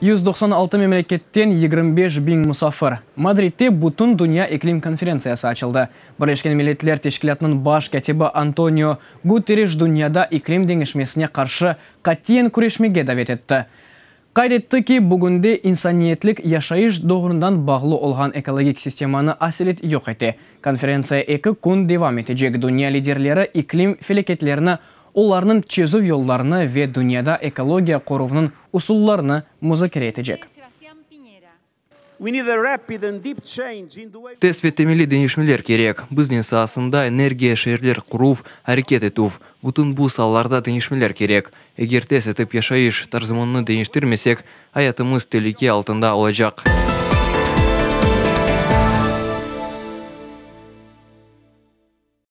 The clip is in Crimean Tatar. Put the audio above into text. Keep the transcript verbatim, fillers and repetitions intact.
Yüz doqsan altı memleketten yigirmi beş biñ musafir. Madridde Bütün dünya iklim konferentsiyası açıldı. Birleşken Milletler Teşkilâtınıñ baş kâtibi Antonio Guterres dünyada iklim deñişmesine qarşı qatiyen küreşmege davet etti. Qayd etti ki, bugünde insaniyetlik yaşayış doğrundan bağlı olğan ekologik sistemanı aselet yoq ete. Konferentsiya eki kün devam etecek. Dünya liderleri iklim felâketlerini, olarnıñ çezüv yollarını ve dünyada ekologiya qoruvınıñ usullarını muzakere etecek. Tez ve temelli deñişmeler kerek. Biznes saasında, energiya, şeerler quruv, areket etüv. Bütün bu saalarda deñişmeler kerek. Eger tez etip yaşayış tarzımıznı deñiştirmesek, ayatımız telüke altında olacaq.